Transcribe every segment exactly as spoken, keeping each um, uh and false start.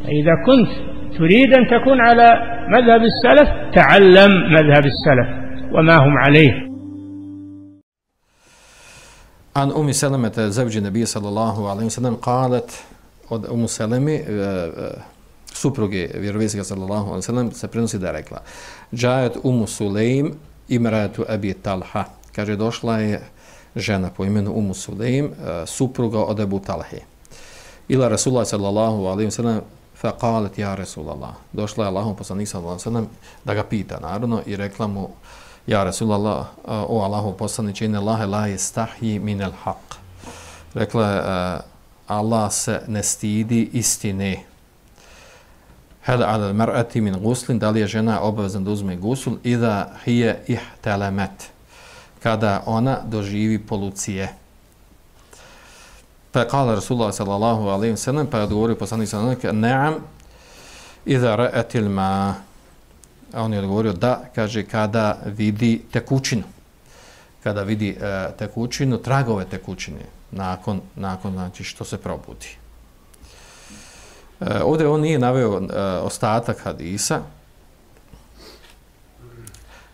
إذا كنت تريد أن تكون على مذهب السلف تعلم مذهب السلف وما هم عليه. عن أم سلمة زوج النبي صلى الله عليه وسلم قالت od Umu Selemi, supruge vjerovjesnika sallallahu alejhi ve sellem, se prenosi da je rekla: "Džajet Umu Sulejm imratu Abi Talha." Kaže, došla je žena po imenu Umu Sulejm, supruga od Abu Talhe. Ila Rasulullah sallallahu alejhi ve sellem fa qalet ja Rasulullah. Došla je Allahov poslanik sallallahu alejhi ve sellem da ga pita naravno i rekla mu: "Ja Rasulullah, o Allahov poslanice, inna Allaha la yastahyi min al-haq." Rekla je: Allah se ne stidi istine. Hel ala al-mar'ati min guslin, da li je žena obavezna da uzme gusul idha hiya ihtalamat, kada ona doživi polucije. Pa je kala Rasulullah sallallahu alaihi wa sallam, pa je odgovorio poslanik sallallahu alaihi wa sallam: "Na'am idha ra'atil ma." A on je odgovorio da, kaže, kada vidi tekućinu. Kada vidi uh, tekućinu, tragove tekućine, nakon, nakon znači, što se probudi. Uh, ovdje on nije naveo uh, ostatak hadisa,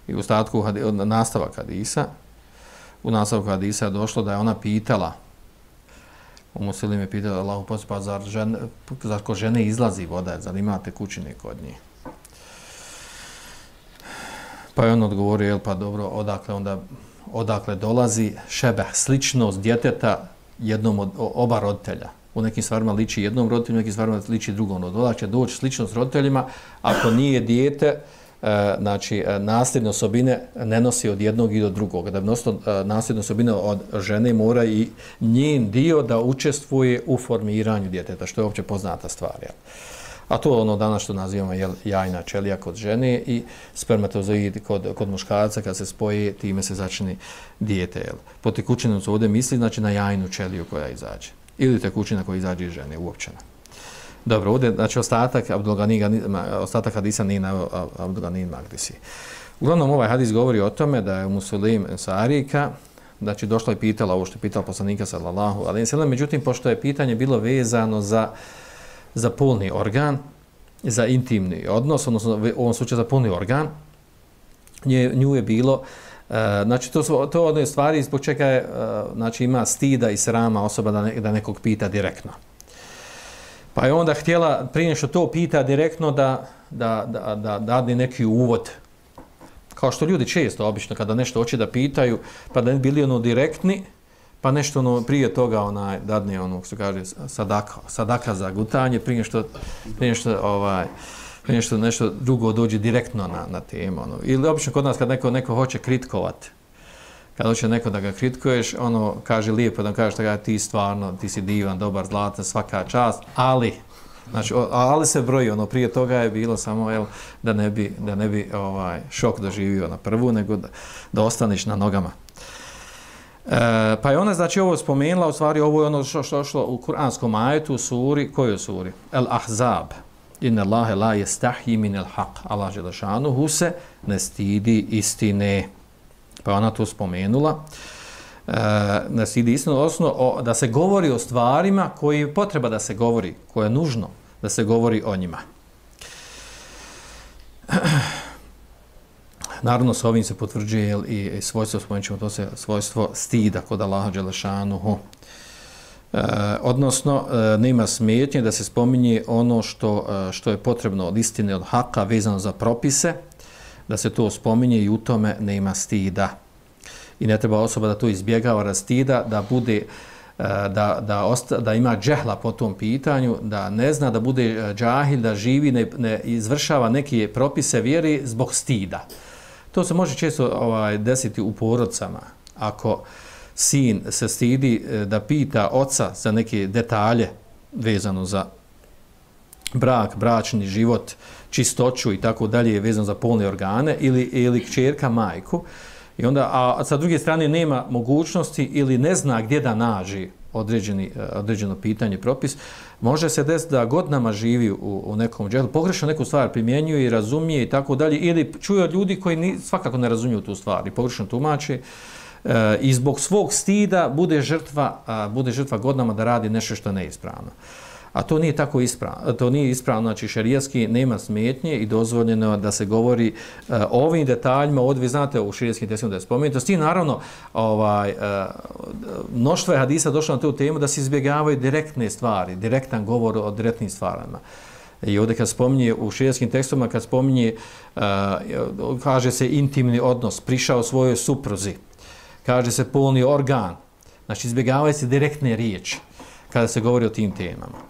i u ostatku hadisa, nastavak hadisa, u nastavku hadisa je došlo da je ona pitala, u Muslim je pitala Allahu poslanik, pa zar, žene, zar ko žene izlazi voda, zar ima tekućine kod nje? Pa je on odgovorio, jel, pa dobro, odakle onda, odakle dolazi šebeh, sličnost djeteta jednom od oba roditelja. U nekim stvarima liči jednom roditelju, u nekim stvarima liči drugom. Odakle će doći sličnost roditeljima ako nije dijete, e, znači nasljedne osobine ne nosi od jednog i do drugog. Da bi nosilo nasljedne osobine od žene, mora i njen dio da učestvuje u formiranju djeteta, što je uopće poznata stvar. Jel? A to je ono danas što nazivamo jel, jajna ćelija kod žene i spermatozoid kod, kod muškarca, kad se spoje, time se začne dijete. Jel. Po tekućinu se ovdje misli, znači na jajnu ćeliju koja izađe. Ili tekućina koja izađe iz žene, uopćena. Dobro, ovdje, znači ostatak, ostatak hadisa nije na Abdulganin Magdisi. Uglavnom, ovaj hadis govori o tome da je Umu Sulejm Ensarika, znači došla i pitala ovo što je pitala poslanika sallallahu alejhi ve sellem, međutim, pošto je pitanje bilo vezano za za polni organ, za intimni odnos, odnosno u ovom slučaju za polni organ, nje, nju je bilo, uh, znači to su to odne stvari zbog čega je, uh, znači ima stida i srama osoba da, ne, da nekog pita direktno. Pa je onda htjela, prije što to pita direktno, da da da da dadne neki uvod. Kao što ljudi često, obično, kada nešto hoće da pitaju, pa da ne bili ono direktni, pa nešto ono prije toga onaj dadne ono što kaže sadaka sadaka za gutanje prije što prije što ovaj prije što nešto drugo dođe direktno na na temu ono. Ili obično kod nas kad neko neko hoće kritikovati, kad hoće neko da ga kritikuješ, ono kaže lijepo da kaže da ti stvarno ti si divan, dobar, zlatan, svaka čast, ali znači ali se broji ono prije toga je bilo samo jel da ne bi da ne bi ovaj šok doživio na prvu, nego da, da ostaneš na nogama. E, pa je ona znači ovo spomenula, u stvari ovo je ono što što šlo u kuranskom ajetu u suri, kojoj suri? El Ahzab. Inna Allahe la yastahyi min al-haq. Allah dželle šanuhu se ne stidi istine. Pa ona to spomenula. E, ne stidi istine, odnosno da se govori o stvarima koji je potreba da se govori, koje je nužno da se govori o njima. Naravno, s ovim se potvrđuje i svojstvo, spomenut ćemo to se svojstvo stida kod Allaha dželle šanuhu. E, odnosno, e, nema smetnje da se spominje ono što, e, što je potrebno od istine, od haka, vezano za propise, da se to spominje i u tome nema stida. I ne treba osoba da to izbjegava radi stida, da bude da, da, osta, da ima džehla po tom pitanju, da ne zna, da bude džahil, da živi, ne, ne izvršava neke propise vjeri zbog stida. To se može često ovaj, desiti u porodcama. Ako sin se stidi da pita oca za neke detalje vezano za brak, bračni život, čistoću i tako dalje, vezano za polne organe, ili, ili kćerka majku, i onda, a sa druge strane nema mogućnosti ili ne zna gdje da nađe određeni, određeno pitanje, propis, može se desiti da godinama živi u, u nekom džehlu, pogrešno neku stvar primjenjuje i razumije i tako dalje, ili čuje od ljudi koji ni, svakako ne razumiju tu stvar i pogrešno tumače, e, i zbog svog stida bude žrtva, a, bude žrtva godinama da radi nešto što je neispravno. A to nije tako ispravno, to nije ispravno, znači šerijatski nema smetnje i dozvoljeno da se govori uh, o ovim detaljima, ovdje vi znate u šerijatskim tekstima da je spomenuto. S tim naravno, ovaj, uh, mnoštvo je hadisa došlo na tu temu da se izbjegavaju direktne stvari, direktan govor o direktnim stvarima. I ovdje kad spominje u šerijatskim tekstovima, kad spominje, uh, kaže se intimni odnos, prišao svojoj supruzi, kaže se polni organ, znači izbjegavaju se direktne riječi kada se govori o tim temama.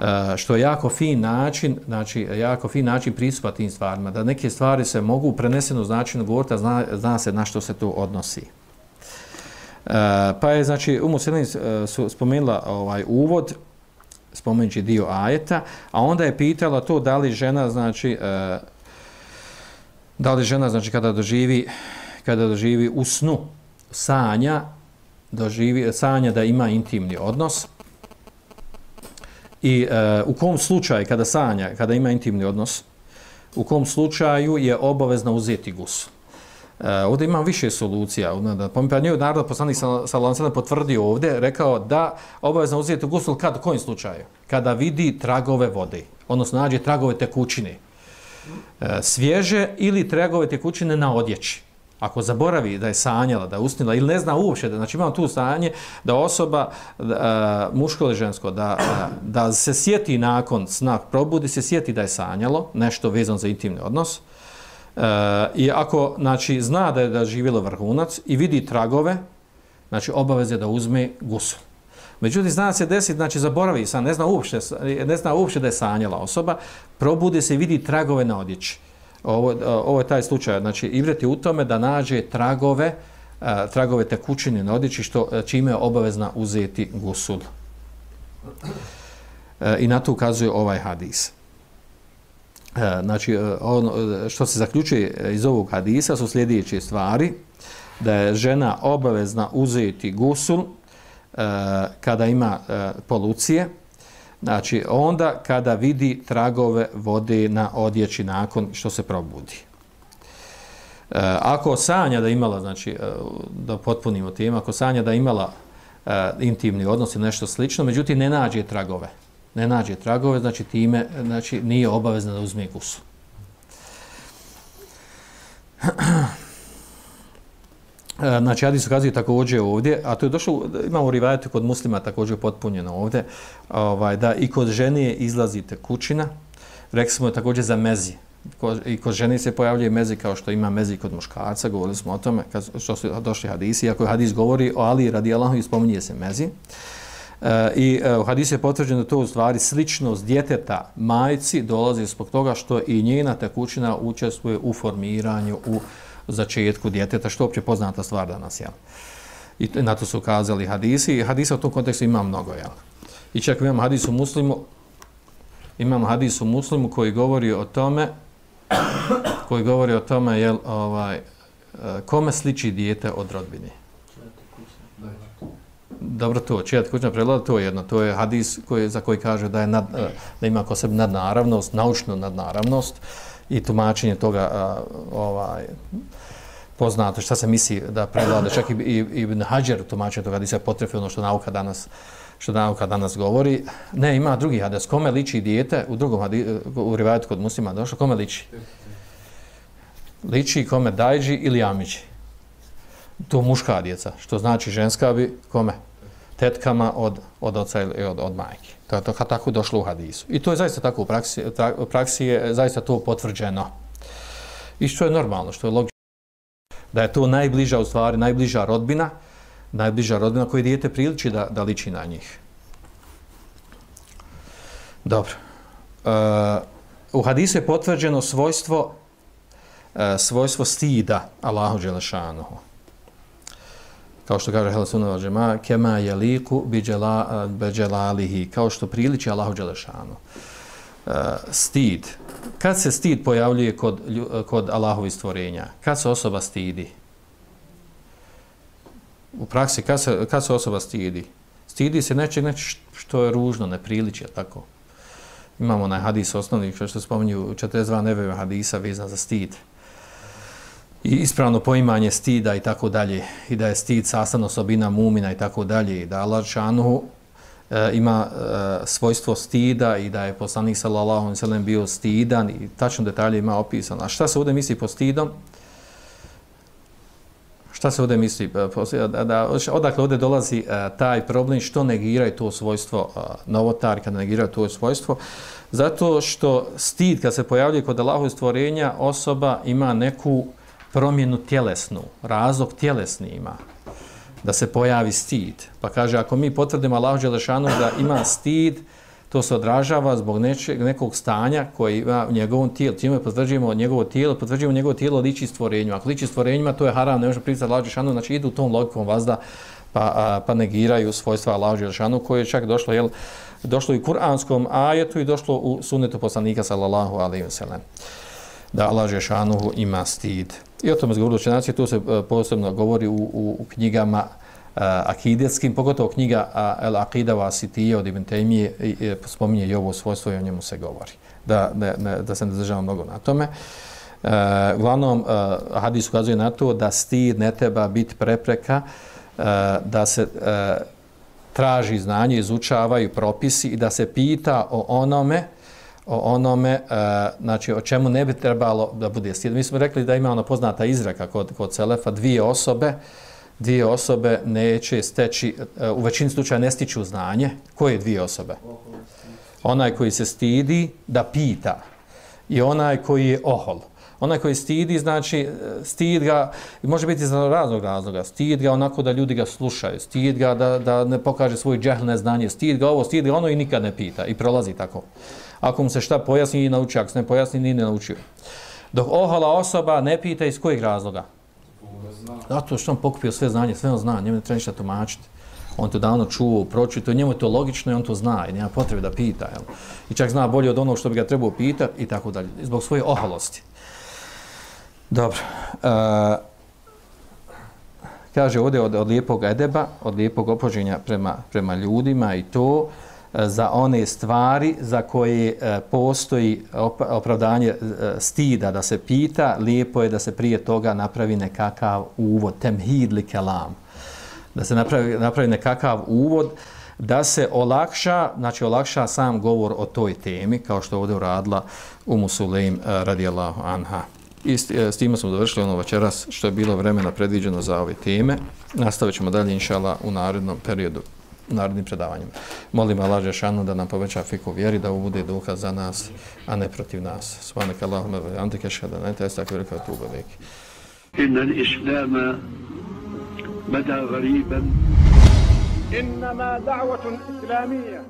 Uh, što je jako fin način, znači jako fin način pristupa tim stvarima, da neke stvari se mogu preneseno značajno govoriti, a zna, zna se na što se to odnosi. Uh, pa je, znači, Umu Selem uh, spomenula ovaj uvod, spomenući dio ajeta, a onda je pitala to da li žena, znači, uh, da li žena, znači, kada doživi, kada doživi u snu, sanja, doživi, sanja da ima intimni odnos, i uh, u kom slučaju kada sanja, kada ima intimni odnos, u kom slučaju je obavezno uzeti gusul. Uh, ovdje imam više solucija. Pa njoj narod poslanik sallallahu alejhi ve sellem potvrdio ovdje, rekao da obavezno uzeti gusul kad, u kojem slučaju? Kada vidi tragove vode, odnosno nađe tragove tekućine, uh, svježe ili tragove tekućine na odjeći. Ako zaboravi da je sanjala, da je usnila ili ne zna uopće, da, znači imamo tu stanje da osoba, da, muško ili žensko, da, da se sjeti nakon sna, probudi, se sjeti da je sanjalo, nešto vezano za intimni odnos, e, i ako, znači, zna da je, da je živjelo vrhunac i vidi tragove, znači obavez je da uzme gusul. Međutim, zna se desiti, znači zaboravi san, ne zna uopće, ne zna uopće da je sanjala osoba, probudi se i vidi tragove na odjeći. Ovo, ovo je taj slučaj, znači ibret je u tome da nađe tragove, tragove tekućine na odjeći, što čime je obavezna uzeti gusul. I na to ukazuje ovaj hadis. Znači, ono što se zaključuje iz ovog hadisa su sljedeće stvari, da je žena obavezna uzeti gusul kada ima polucije, znači onda kada vidi tragove vode na odjeći nakon što se probudi. E, ako sanja da imala, znači da potpunimo tim, ako sanja da imala e, intimni odnos ili nešto slično, međutim ne nađe tragove, ne nađe tragove, znači time, znači nije obavezna da uzme gusul. Znači, hadis ukazuje također ovdje, a to je došlo, imamo rivajetu kod Muslima također potpunjeno ovdje, ovaj, da i kod žene izlazi tekućina, rekli smo je također za mezi. I kod žene se pojavljuje mezi kao što ima mezi kod muškarca, govorili smo o tome, kad, što su došli hadisi, iako je hadis govori o Ali radijallahu i spominje se mezi. E, I e, u hadisu je potvrđeno to u stvari sličnost djeteta majci dolazi zbog toga što i njena tekućina učestvuje u formiranju, u začetku djeteta, što opće poznata stvar danas, jel? I na to su ukazali hadisi, i hadisa u tom kontekstu ima mnogo, jel? I čak imamo hadis u Muslimu, imamo hadis u Muslimu koji govori o tome, koji govori o tome, jel, ovaj, kome sliči dijete od rodbine. Dobro, to, čija tekućina prevlada, to je jedno, to je hadis koji, za koji kaže da, je nad, da ima kod sebe nadnaravnost, naučnu nadnaravnost, i tumačenje toga a, ovaj, poznato šta se misli da prevlada, čak i, i, i Ibn Hajar tumačenje toga hadisa potrefi ono što nauka danas što nauka danas govori. Ne, ima drugi hadis, kome liči dijete, u drugom hadisu, u rivajetu kod Muslima došlo, kome liči? Liči kome dajđi ili amiđi. To muška djeca, što znači ženska bi kome? Tetkama od, od oca ili od, od majke. To je to tako došlo u hadisu. I to je zaista tako u praksi, u praksi je zaista to potvrđeno. I što je normalno, što je logično. Da je to najbliža u stvari, najbliža rodbina, najbliža rodbina koji dijete priliči da, da liči na njih. Dobro. Uh, u hadisu je potvrđeno svojstvo, uh, svojstvo stida Allahu dželešanuhu. Kao što kaže Ahlus Sunna vel Džemaa, kema yaliku bi jalalihi, kao što priliči Allahu dželešanu. Uh, stid. Kad se stid pojavljuje kod, kod Allahovih stvorenja? Kad se osoba stidi? U praksi, kad se, kad se osoba stidi? Stidi se nečeg, nečeg što je ružno, ne priliči, tako. Imamo onaj hadis osnovni, što se spominju četrdeset dva neveve hadisa vezan za stid. I ispravno poimanje stida i tako dalje, i da je stid sastavna osobina mumina i tako dalje, i da Allah šanuhu e, ima e, svojstvo stida i da je poslanik sallallahu alejhi ve sellem bio stidan i tačno detalje ima opisano. A šta se ovdje misli pod stidom? Šta se ovdje misli? Da, da, odakle ovdje dolazi a, taj problem što negiraju to svojstvo a, novotari, kada negiraju to svojstvo? Zato što stid, kad se pojavljuje kod Allahovog stvorenja, osoba ima neku promjenu tjelesnu, razlog tjelesni ima, da se pojavi stid. Pa kaže, ako mi potvrdimo Allahu dželešanu da ima stid, to se odražava zbog nečeg, nekog stanja koji ima u njegovom tijelu. Time potvrđujemo njegovo tijelo, potvrđujemo njegovo tijelo liči stvorenju. Ako liči stvorenjima, to je haram, ne može pristati Allahu dželešanu, znači idu tom logikom vazda pa, a, pa negiraju svojstva Allahu dželešanu, koje je čak došlo, jel, došlo i u kuranskom ajetu i došlo u sunnetu poslanika sallallahu alejhi ve sellem. Da Allah dželešanu ima stid. I o tome se govori učenjaci, to se posebno govori u, u, u knjigama uh, akidetskim, pogotovo knjiga uh, El Aqida Vasitije od Ibn Taymije i, spominje i ovo svojstvo i o njemu se govori. Da, ne, ne, da se ne zadržava mnogo na tome. Uh, uglavnom, uh, hadis ukazuje na to da stid ne treba biti prepreka, uh, da se uh, traži znanje, izučavaju propisi i da se pita o onome o onome, uh, znači o čemu ne bi trebalo da bude stid. Mi smo rekli da ima ona poznata izreka kod, kod Selefa, dvije osobe, dvije osobe neće steći, uh, u većini slučaja ne stiču znanje. Koje dvije osobe? Onaj koji se stidi da pita i onaj koji je ohol. Onaj koji stidi, znači stid ga, može biti iz raznog razloga, stid ga onako da ljudi ga slušaju, stid ga da, da ne pokaže svoj džehl neznanje, stid ga ovo, stid ga ono i nikad ne pita i prolazi tako. Ako mu se šta pojasni i nauči, ako se ne pojasni, ni ne naučio. Dok ohola osoba ne pita iz kojeg razloga? Zato što on pokupio sve znanje, sve on zna, njemu ne treba ništa tumačiti. On to davno čuo, pročito, njemu je to logično i on to zna i nema potrebe da pita. Jel? I čak zna bolje od onog što bi ga trebao pitati i tako dalje, zbog svoje oholosti. Dobro. E, kaže ovdje od, od lijepog edeba, od lijepog opođenja prema, prema ljudima i to e, za one stvari za koje e, postoji op, opravdanje e, stida da se pita, lijepo je da se prije toga napravi nekakav uvod, temhid li kelam. Da se napravi, napravi nekakav uvod, da se olakša, znači olakša sam govor o toj temi, kao što ovdje uradila Umu Sulejm radijallahu anha. I s time smo dovršili ono večeras što je bilo vremena predviđeno za ove teme. Nastavit ćemo dalje, inšallah, u narednom periodu, u narednim predavanjima. Molim Allah dželešanu da nam poveća fiku vjeri, da ovo bude dokaz za nas, a ne protiv nas. Subhanaka Allahumma wa bihamdika ashhadu an la ilaha illa anta astaghfiruka wa atubu ilaik. Inna al-islama bada ghariban. إنما دعوة إسلامية